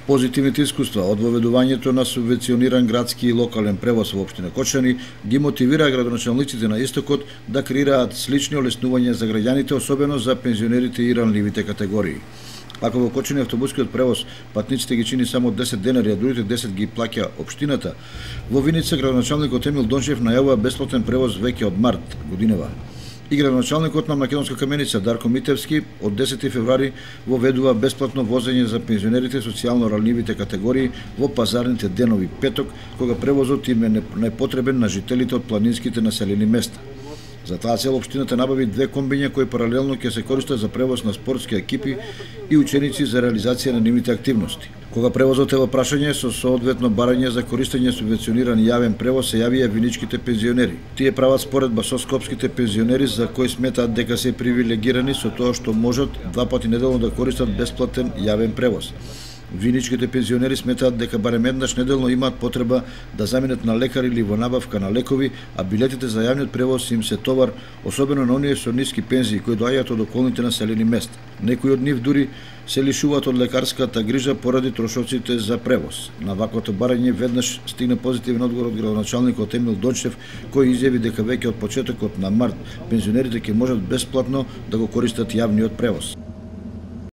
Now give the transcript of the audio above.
Позитивните искуства од воведувањето на субвенциониран градски и локален превоз во општина Кочани ги мотивира градоначалниците на Истокот да креираат слични олеснувања за граѓаните, особено за пензионерите и ранливите категории. Ако во Кочани автобускиот превоз патниците ги чини само 10 денари, а другите 10 ги плаќа општината, во Виница градоначалникот Емил Дончев најавува бесплатен превоз веќе од март годинава. И градоначалникот на Македонска Каменица Дарко Митевски од 10 февруари воведува бесплатно возење за пензионерите социјално ранливите категории во пазарните денови петок, кога превозот им е најпотребен на жителите од планинските населени места. За таа цел општината набави 2 комбиња кои паралелно ќе се користат за превоз на спортски екипи и ученици за реализација на нивните активности. Кога превозот е во прашање со соодветно барање за користење субвенциониран јавен превоз се јавија виничките пензионери. Тие прават споредба со скопските пензионери за кои сметаат дека се привилегирани со тоа што можат 2 пати неделно да користат бесплатен јавен превоз. Виничките пензионери сметаат дека барем еднаш неделно имаат потреба да заминат на лекар или во набавка на лекови, а билетите за јавниот превоз им се товар, особено на оние со ниски пензии кои доаѓаат од околните населени места. Некои од нив дури се лишуваат од лекарската грижа поради трошоците за превоз. На ваквото барање веднаш стигна позитивен одговор од градоначалникот Емил Дончев, кој изјави дека веќе од почетокот на март пензионерите ќе можат бесплатно да го користат јавниот превоз.